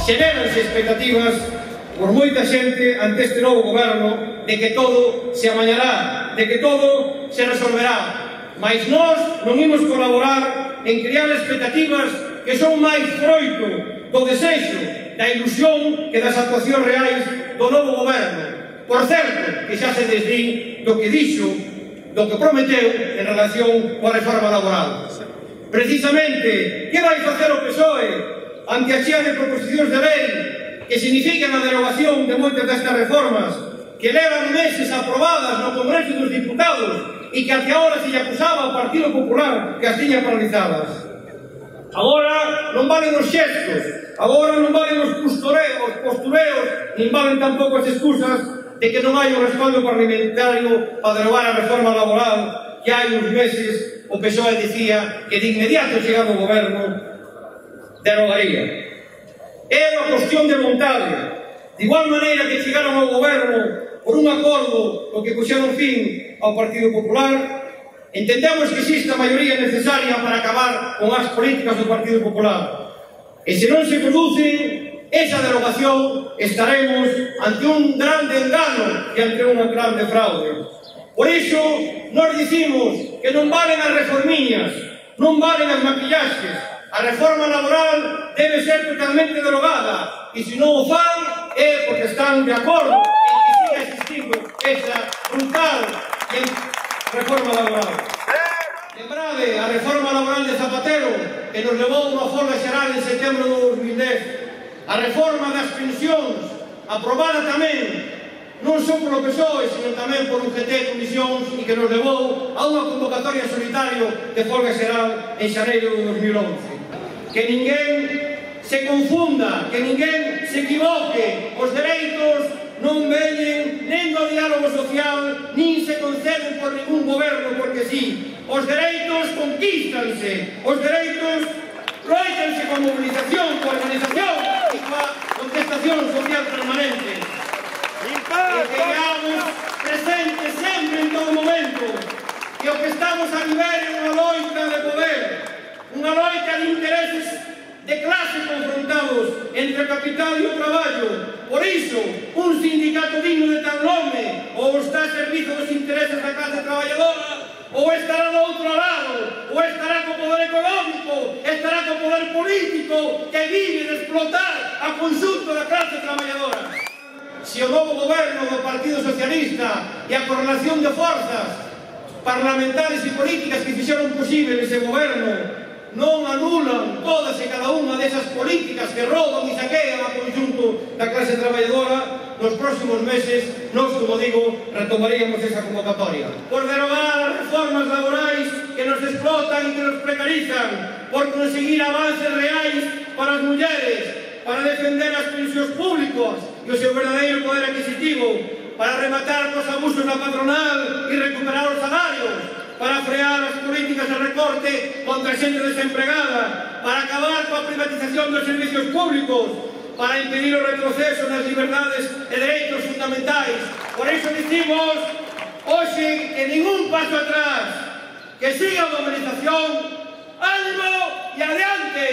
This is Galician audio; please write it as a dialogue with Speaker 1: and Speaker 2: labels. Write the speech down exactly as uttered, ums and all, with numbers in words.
Speaker 1: xeréranse expectativas por moita xente ante este novo goberno de que todo se amañará, de que todo se resolverá. Mais nós non imos colaborar en crear expectativas que son máis froito do desexo, da ilusión que das actuacións reais do novo goberno. Por certo, que xa se desdí do que dixo, do que prometeu en relación coa reforma laboral. Precisamente, que vai facer o P S O E ante a chea de proposicións de lei que significan a derogación de moitas destas reformas que levan meses aprobadas no Congreso dos Diputados e que até agora se lle acusaba ao Partido Popular que as tiña paralizadas? Agora non valen os xestos, agora non valen os postureos, postureos, nin valen tampouco as excusas de que non hai un respaldo parlamentario para derogar a reforma laboral que hai uns meses o P S O E dicía que de inmediato chegado o goberno derogaría. É unha cuestión de vontade. De igual maneira que chegaron ao goberno por un acordo no que puxeron fin ao Partido Popular, entendemos que existe a maioría necesaria para acabar con as políticas do Partido Popular. E se non se produce esa derogación, estaremos ante un grande engano e ante unha grande fraude. Por iso, nós dicimos que non valen as reformiñas, non valen as maquillaxes. A reforma laboral debe ser totalmente derogada e se non o fan é porque están de acordo en que siga existindo esa brutal reforma laboral. Lembrade a reforma laboral de Zapatero que nos levou unha folga xeral en setembro de dos mil dez. A reforma das pensións aprobada tamén non só polo P S O E, sino tamén por un G T de comisións e que nos levou a unha convocatoria solitario de folga xeral en xaneiro de dos mil once. Que ninguén se confunda, que ninguén se equivoque. Os dereitos non veñen nen do diálogo social, nin se conceden por ningún goberno porque sí. Os dereitos conquístanse, os dereitos loitanse con movilización, con organización e coa contestación social permanente. E que teamos presente sempre en todo momento que o que estamos a viver é unha loita de poder, unha loita de intereses de clase confrontados entre o capital e o traballo. Por iso, un sindicato digno de tal nome ou está a servizo dos intereses da clase traballadora ou estará do outro lado, ou estará co poder económico, estará co poder político que vive de explotar a conxunto da clase traballadora. Se o novo goberno do Partido Socialista e a correlación de forzas parlamentarias e políticas que fixeron posible ese goberno non anulan todas e cada unha desas políticas que rouban e saquean a conxunto da clase traballadora, nos próximos meses, nós, como digo, retomaríamos esa convocatoria. Por derogar as reformas laborais que nos explotan e que nos precarizan, por conseguir avances reais para as mulleres, para defender as pensións públicas e o seu verdadeiro poder adquisitivo, para rematar cos abusos da patronal e recuperar os salarios, para frear as políticas de recorte contra a xente desempregada, para acabar coa privatización dos servicios públicos, para impedir o retroceso nas liberdades e dereitos fundamentais. Por iso dicimos hoxe que ningún paso atrás, que siga a mobilización, ánimo e adiante!